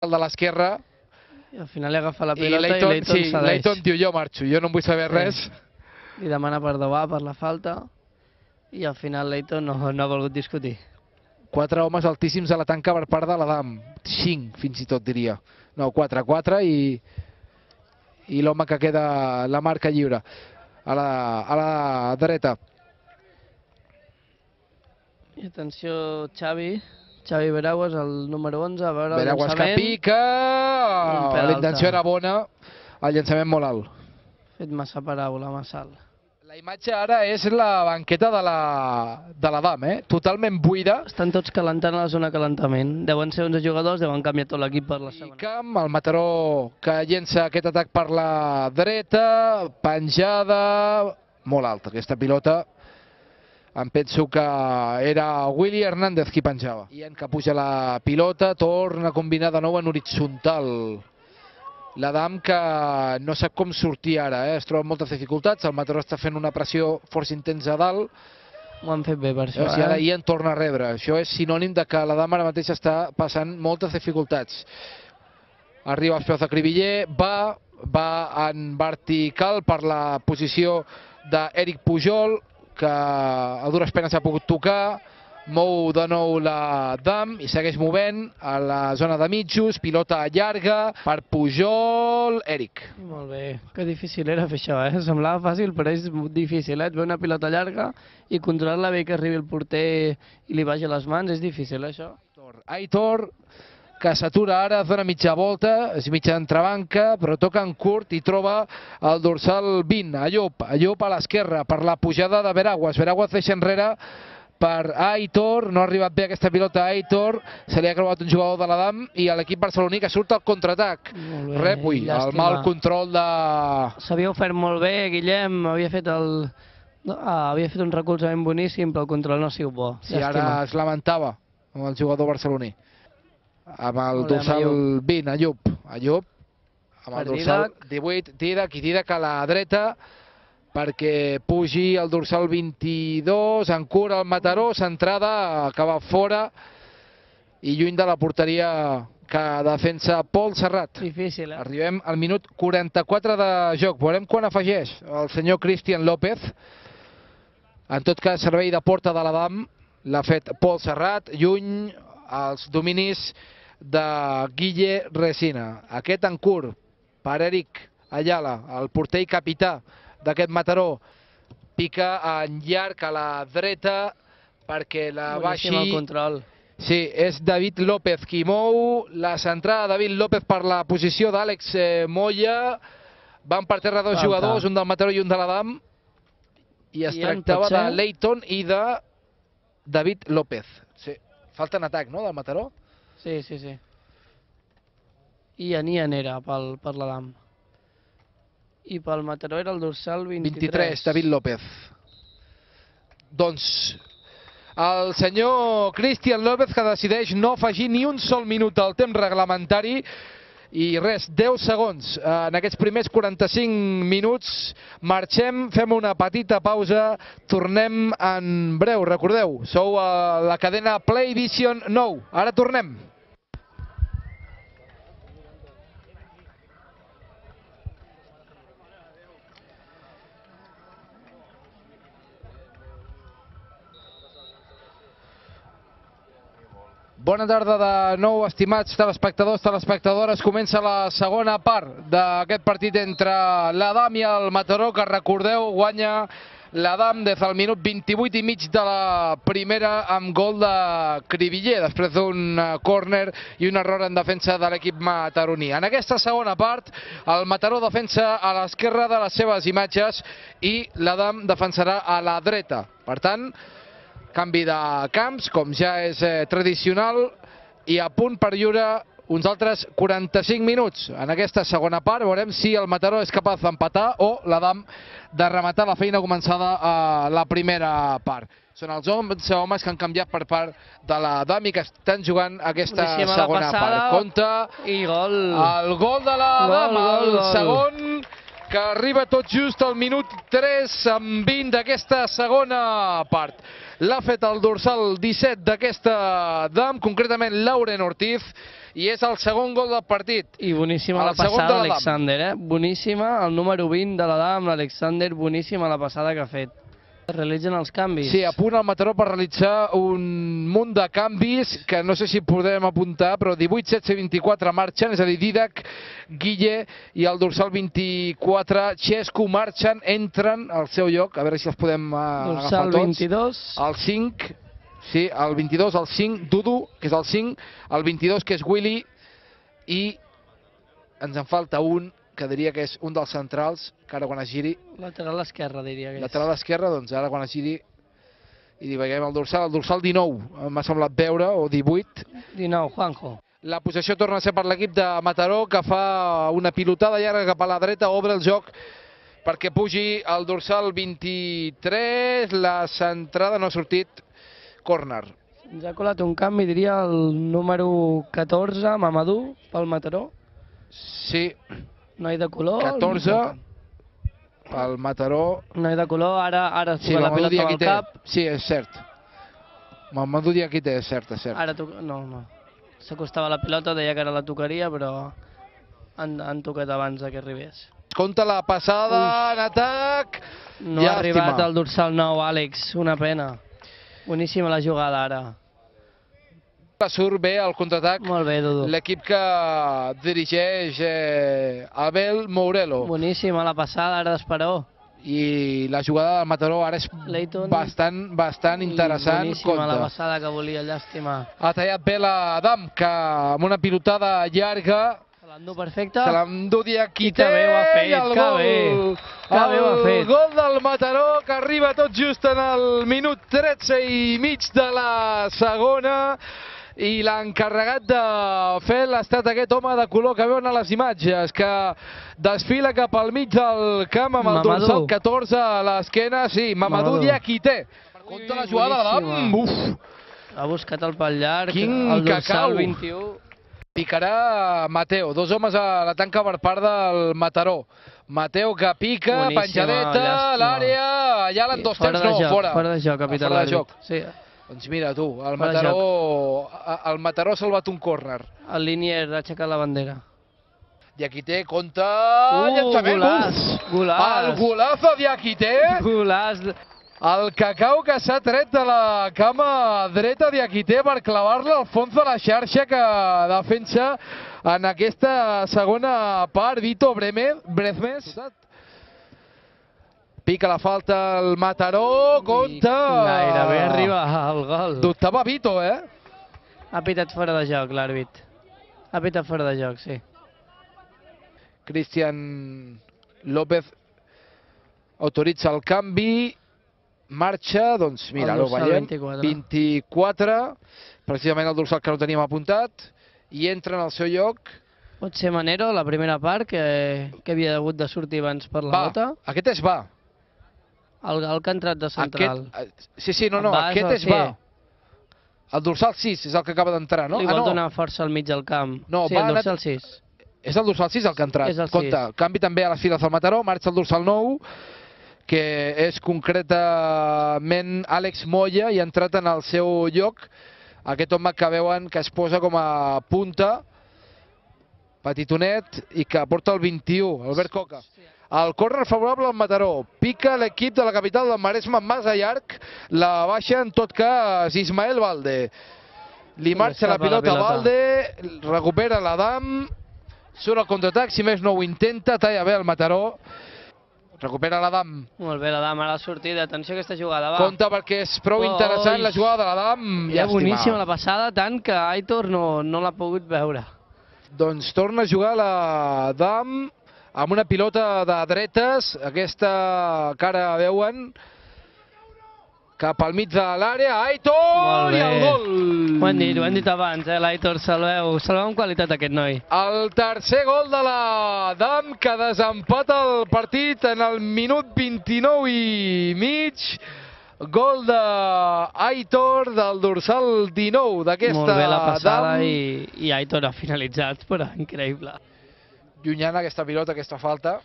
el de l'esquerra. I al final li agafa la pilota i Leighton cedeix. Leighton diu jo marxo, jo no en vull saber res. Li demana perdó per la falta i al final Leighton no ha volgut discutir. 4 homes altíssims a la tanca per part de l'Adam. 5 fins i tot diria. No, 4 i l'home que queda la marca lliure a la dreta. I atenció Xavi Veraguas, el número 11, a veure el Veraguas llançament. que pica, la intenció era bona, el llançament molt alt. Fet massa paraula, massa alt. La imatge ara és la banqueta de l'Adam, totalment buida. Estan tots calentant a la zona calentament. Deuen ser 11 jugadors, deuen canviar tot l'equip per la segona. Camp, el Mataró que llença aquest atac per la dreta, penjada, molt alta aquesta pilota. Em penso que era Willy Hernández qui penjava. I en que puja la pilota, torna a combinar de nou en horitzontal. L'Adam que no sap com sortir ara, es troba amb moltes dificultats, el Mataró està fent una pressió força intensa a dalt. Ho han fet bé per això, I ara en torna a rebre. Això és sinònim de que l'Adam ara mateix està passant moltes dificultats. Arriba als peus de Cribiller, va en vertical per la posició d'Eric Pujol, que a dures penes ha pogut tocar, mou de nou l'Adam i segueix movent a la zona de mitjos, pilota llarga per Pujol, Eric. Molt bé, que difícil era fer això, semblava fàcil però és difícil, et ve una pilota llarga i controlar-la bé que arribi el porter i li vagi a les mans, és difícil això. Aitor, que s'atura ara, dona mitja volta, és mitja entrebanca, però toca en curt i troba el dorsal 20, Allop a l'esquerra, per la pujada de Veraguas. Veraguas deixa enrere per Aitor, no ha arribat bé aquesta pilota a Aitor, se li ha creuat un jugador de l'Adam i l'equip barceloní que surt al contraatac. Ui, el mal control de... S'havia ofert molt bé, Guillem, havia fet un recolzament boníssim, però el control no ha sigut bo. Sí, ara es lamentava amb el jugador barceloní. Amb el dorsal 20, Allop, amb el dorsal 18, Didac a la dreta, perquè pugi el dorsal 22, en cura el Mataró, centrada, acaba fora i lluny de la porteria que defensa Pol Serrat. Difícil, Arribem al minut 44 de joc. Veurem quan afegeix el senyor Cristian López. En tot cas, servei de porta de l'Adam l'ha fet Pol Serrat, lluny als dominis de Guille Resina. Aquest en curt per Eric Ayala, el porter i capità d'aquest Mataró. Pica en llarg a la dreta perquè la baixi... Boníssim el control. Sí, és David López qui mou la centrada. David López per la posició d'Àlex Moya. Van per terra dos jugadors, un del Mataró i un de l'Adam. I es tractava de Leighton i de David López. Sí. Falta en atac, no, del Mataró? Sí. I Ian era per l'Adam. I pel Mataró era el dorsal 23. David López. Doncs el senyor Cristian López que decideix no afegir ni un sol minut al temps reglamentari i res, 10 segons en aquests primers 45 minuts. Marxem, fem una petita pausa, tornem en breu. Recordeu, sou a la cadena Play Vision 9. Ara tornem. Bona tarda de nou, estimats telespectadors, telespectadores. Comença la segona part d'aquest partit entre l'Adam i el Mataró, que recordeu guanya l'Adam des del minut 28 i mig de la primera amb gol de Cribiller, després d'un córner i un error en defensa de l'equip mataroní. En aquesta segona part, el Mataró defensa a l'esquerra de les seves imatges i l'Adam defensarà a la dreta. Per tant, canvi de camps, com ja és tradicional, i a punt per lliure uns altres 45 minuts. En aquesta segona part veurem si el Mataró és capaç d'empatar o l'Adam de rematar la feina començada a la primera part. Són els 11 homes que han canviat per part de l'Adam i que estan jugant aquesta segona part. Compte i gol. El gol de l'Adam, el segon, que arriba tot just al minut 3 amb 20 d'aquesta segona part. L'ha fet el dorsal 17 d'aquesta Adam, concretament Lauren Ortiz, i és el segon gol del partit. I boníssima la passada d'Alexander, boníssima, el número 20 de l'Adam, l'Alexander, boníssima la passada que ha fet. Realitzen els canvis. Sí, a punt el Mataró per realitzar un munt de canvis que no sé si podem apuntar, però 18, 16, 24 marxen, és a dir, Didac, Guille i el dorsal 24, Xesco, marxen, entren al seu lloc, a veure si els podem agafar tots. Dorsal 22. El 5, sí, el 22, el 5, Dudu, que és el 5, el 22, que és Willy, i ens en falta un, que diria que és un dels centrals, que ara quan es giri... Lateral esquerra, diria que és. Lateral esquerra, doncs ara quan es giri i li veiem el dorsal 19, m'ha semblat veure, o 18. 19, Juanjo. La possessió torna a ser per l'equip de Mataró, que fa una pilotada llarga cap a la dreta, obre el joc perquè pugi el dorsal 23, la centrada no ha sortit, córner. Ens ha colat un canvi, diria el número 14, Mamadou, pel Mataró. Sí. Noi de color. 14, pel Mataró. Noi de color, ara es sí, la pilota amb el cap. Sí, és cert. Mamadou Diakité, és cert, és cert. Ara no. S'acostava la pilota, deia que ara la tocaria, però han tocat abans que arribés. Compte la passada en atac. No ha arribat el dorsal 9, Àlex, una pena. Boníssima la jugada ara. Surt bé el contraatac. Molt bé, Dudu. L'equip que dirigeix Abel Mourelo. Boníssima la passada ara d'Esperó. I la jugada del Mataró ara és bastant interessant. Boníssima la passada que volia, llàstima. Ha tallat bé l'Adam, que amb una pilotada llarga se l'endú perfecte. Se l'endú Diakité. Que bé ho ha fet, que bé. Que bé ho ha fet. El gol del Mataró, que arriba tot just en el minut 13 i mig de la segona. I l'encarregat de fer l'ha estat aquest home de color que veuen a les imatges, que desfila cap al mig del camp amb el dorsal 14 a l'esquena. Sí, Mamadou Diakité. Compte la jugada d'Adam. Ha buscat el pal llarg, quin el dorsal cacau. 21. Picarà Mateo, dos homes a la tanca per part del Mataró. Mateo que pica, boníssima, penjadeta, l'àrea, allà l'han dos temps, no, fora. Fora de joc, capità l'àrbit. Sí. Doncs mira tu, el Mataró ha salvat un córner. El Linier ha aixecat la bandera. Diakité, compte, llançament, golaç. El golazo Diakité. Golaç. El cacau que s'ha tret de la cama dreta Diakité per clavar-la al fons de la xarxa que defensa en aquesta segona part. Vito Brezmes. Pica la falta el Mataró, compte. Gairebé arriba al gol. Dubtava Vito, eh? Ha pitat fora de joc l'àrbit. Ha pitat fora de joc, sí. Cristian López autoritza el canvi. Marxa, doncs mira, ho veiem, 24, precisament el dorsal que no teníem apuntat, i entra en el seu lloc. Pot ser Manero, la primera part, que havia hagut de sortir abans per la bota. Aquest és va. El que ha entrat de central. Sí, no, aquest és va. El dorsal 6 és el que acaba d'entrar, no? Li vol donar força al mig del camp. No, sí, el dorsal 6. És el dorsal 6 el que ha entrat. És el 6. Canvi també a les files del Mataró, marxa el dorsal 9, que és concretament Àlex Moya, i ha entrat en el seu lloc aquest home que veuen que es posa com a punta, petitonet, i que porta el 21, Albert Coca. El córner favorable al Mataró. Pica l'equip de la capital del Maresme massa llarg, la baixa en tot cas Ismael Valde. Li marxa la pilota a Valde, recupera l'Adam, surt al contraatac, si més no ho intenta, talla bé el Mataró. Recupera l'Adam. Molt bé, l'Adam ara ha sortit. Atenció a aquesta jugada, va. Compte perquè és prou interessant la jugada de l'Adam. Era boníssima la passada, tant que Aitor no l'ha pogut veure. Doncs torna a jugar l'Adam amb una pilota de dretes. Aquesta cara veuen cap al mig de l'àrea. Aitor i el gol! Ho hem dit abans, l'Aitor salveu amb qualitat aquest noi. El tercer gol de l'Adam, que desempata el partit en el minut 29 i mig. Gol d'Aitor del dorsal 19 d'aquesta Adam. Molt bé la passada i Aitor ha finalitzat, però increïble. Llunyana aquesta pilota, aquesta falta.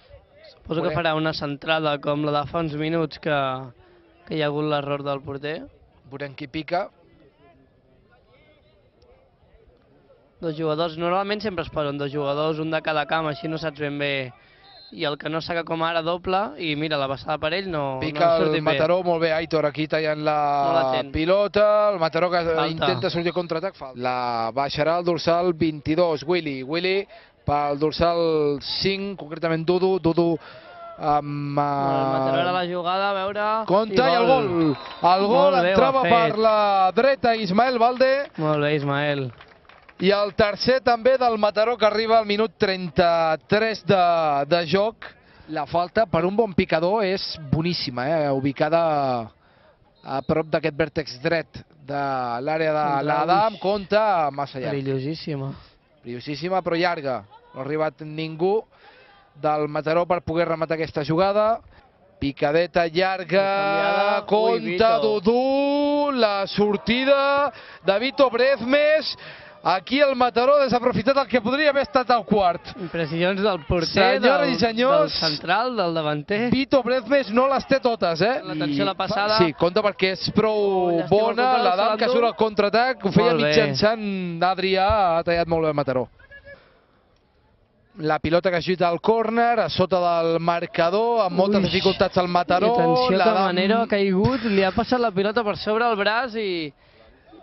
Suposo que farà una centrada com la de fa uns minuts que hi ha hagut l'error del porter. Veurem qui pica. Dos jugadors, normalment sempre es posen dos jugadors, un de cada camp, així no saps ben bé. I el que no saca com ara doble, i mira, la passada per ell no Pica sortit el bé. Mataró, molt bé, Aitor aquí tallant la pilota, el Mataró que intenta sortir a contraatac, la baixarà el dorsal 22, Willy pel dorsal 5, concretament Dudu amb... El Mataró era la jugada, a veure... Compte i el gol! El gol entrava per la dreta Ismael Valde. Molt bé, Ismael. I el tercer també del Mataró, que arriba al minut 33 de joc. La falta per un bon picador és boníssima, ubicada a prop d'aquest vèrtex dret de l'àrea de l'Adam. Compte, massa llarg. Perillosíssima. Perillosíssima, però llarga. No ha arribat ningú del Mataró per poder rematar aquesta jugada. Picadeta llarga, compte Dudu, la sortida de Vito Brezmes. Aquí el Mataró ha desaprofitat el que podria haver estat el quart. Impressions del porter, del central, del davanter. Vito Brezmes no les té totes, L'atenció a la passada. Sí, compte perquè és prou bona. L'Adam que surt al contraatac, ho feia mitjançant Adrià, ha tallat molt bé el Mataró. La pilota que ajuda al córner, a sota del marcador, amb moltes dificultats al Mataró. Atenció que Manero ha caigut, li ha passat la pilota per sobre el braç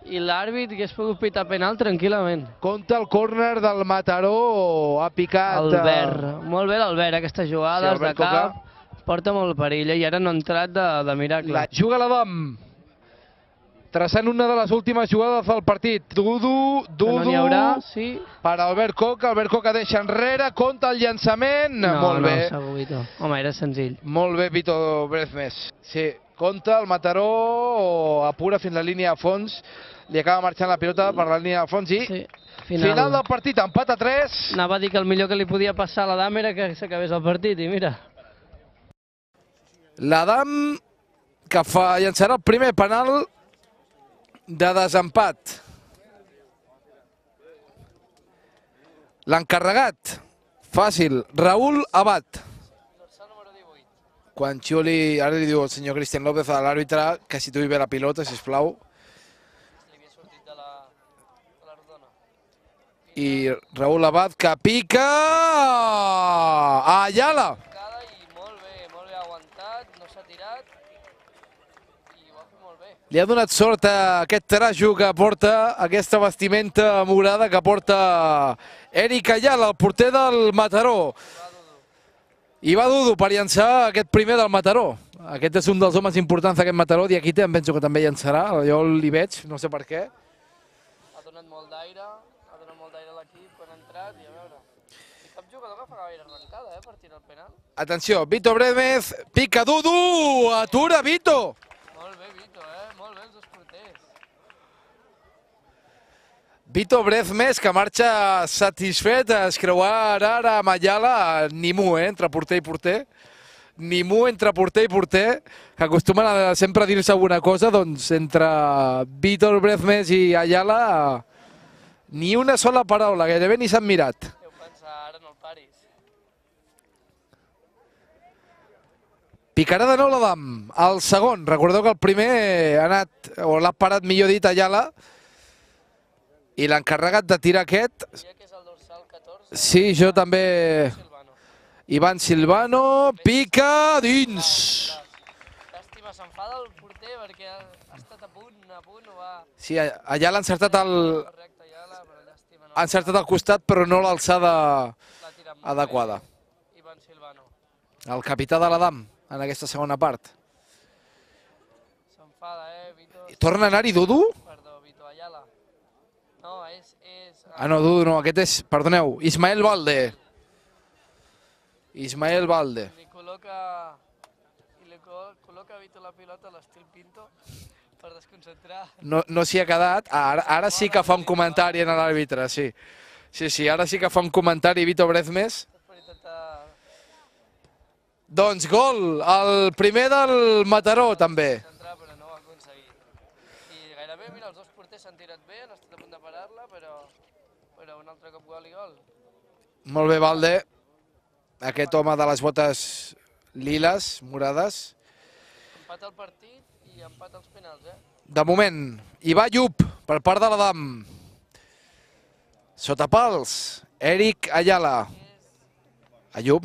i l'àrbit hagués pogut pitar penal tranquil·lament. Compte el córner del Mataró, ha picat... Albert, molt bé l'Albert, aquestes jugades de cap, porta molt perill i ara no ha entrat de miracle. La juga l'Adam, traçant una de les últimes jugades del partit. Dudu, no n'hi haurà, sí. Per Albert Coca deixa enrere, compte el llançament. Molt bé. No, segur, Vito. Home, era senzill. Molt bé, Vito Brezmes. Sí, compte, el Mataró apura fins la línia de fons. Li acaba marxant la pilota per la línia de fons i final del partit, empat a 3. Anava a dir que el millor que li podia passar a l'Adam era que s'acabés el partit i mira. L'Adam que llançarà el primer penal de desempat. L'encarregat, fàcil, Raúl Abad. Quan xiuli, ara li diu el senyor Cristian López a l'àrbitre que situï bé la pilota, sisplau. I Raúl Abad que pica... Ayala! Molt bé aguantat, no s'ha tirat i ho ha fet molt bé. Li ha donat sort a aquest trajo que porta, aquesta vestimenta morada que porta Eric Ayala, el porter del Mataró. I va Dudu per llançar aquest primer del Mataró. Aquest és un dels homes importants d'aquest Mataró, Diakite, em penso que també llançarà, jo l'hi veig, no sé per què. Ha donat molt d'aire a l'equip quan ha entrat i a veure. I cap jugador que fa gaire arrencada, per tirar el penal. Atenció, Vito Brezmes, pica Dudu, atura Vito. Molt bé, Vito, molt bé els dos porters. Vito Brezmes, que marxa satisfet, es creuarà ara amb Ayala, Nimú, entre porter i porter. Nimú entre porter i porter, que acostumen a sempre dir-se alguna cosa, doncs entre Vítor Brezmes i Ayala, ni una sola paraula, gairebé ni s'han mirat. Deu pensar, ara no el paris. Picarà de nou l'Adam, el segon. Recordeu que el primer ha anat, o l'ha parat millor dit Ayala, i l'encarregat de tirar aquest... Sí, jo també... Ivan Silvano, pica dins. Llàstima, s'enfada el porter perquè ha estat a punt, ho va... Sí, allà l'ha encertat el costat, però no l'alçada adequada. Ivan Silvano. El capità de l'Adam, en aquesta segona part. S'enfada, Vito... Torna a anar-hi Dudu? Perdó, Vito Ayala. No, és... Ah, no, Dudu no, aquest és, perdoneu, Ismael Valde. Ismael Valde. Li col·loca a Vito la pilota a l'estil Pinto per desconcentrar. No s'hi ha quedat. Ara sí que fa un comentari en l'àrbitre, sí. Sí, ara sí que fa un comentari Vito Brezmes. Doncs gol, el primer del Mataró també. Però no ho ha aconseguit. I gairebé, mira, els dos porters s'han tirat bé, han estat a punt de parar-la, però un altre cop gol i gol. Molt bé, Valde. Aquest home de les botes liles, morades. Empat al partit i empat als penals, De moment, hi va Llup per part de l'Adam. Sota pals, Eric Ayala. Ayub,